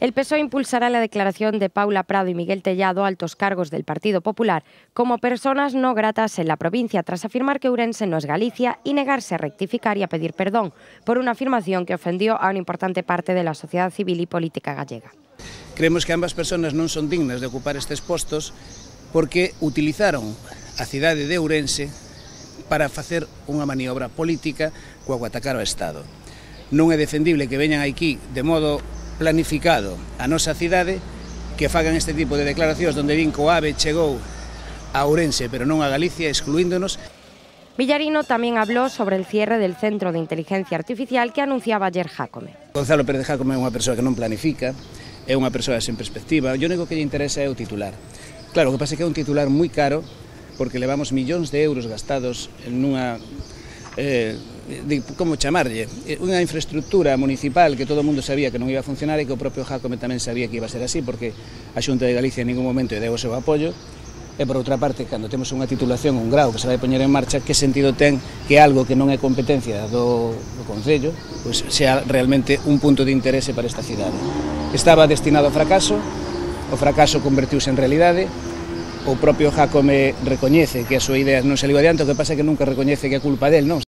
El PSOE impulsará la declaración de Paula Prado y Miguel Tellado, altos cargos del Partido Popular, como personas no gratas en la provincia, tras afirmar que Ourense no es Galicia y negarse a rectificar y a pedir perdón por una afirmación que ofendió a una importante parte de la sociedad civil y política gallega. Creemos que ambas personas non son dignas de ocupar estes postos porque utilizaron a cidade de Ourense para facer unha maniobra política coa que atacar ao Estado. Non é defendible que veñan aquí de modo planificado a nosa cidade, que fagan este tipo de declaracións donde din que o AVE chegou a Ourense pero non a Galicia, excluíndonos. Villarino tamén habló sobre el cierre del Centro de Inteligencia Artificial que anunciaba ayer Jácome. Gonzalo Pérez Jácome é unha persoa que non planifica, é unha persoa sen perspectiva, o único que lle interesa é o titular. Claro, o que pasa é que é un titular moi caro, porque levamos millóns de euros gastados en unha como chamarlle, unha infraestructura municipal que todo o mundo sabía que non iba a funcionar e que o propio Jácome tamén sabía que iba a ser así, porque a Xunta de Galicia en ningún momento lle deu o seu apoio. E por outra parte, cando temos unha titulación, un grau que se vai poñer en marcha, que sentido ten que algo que non é competencia do Concello, pois sea realmente un punto de interese para esta cidade. Estaba destinado ao fracaso, o fracaso convertiuse en realidade. O propio Jácome recoñece que a súa idea non saliu adiante, o que pasa é que nunca recoñece que é culpa del, non?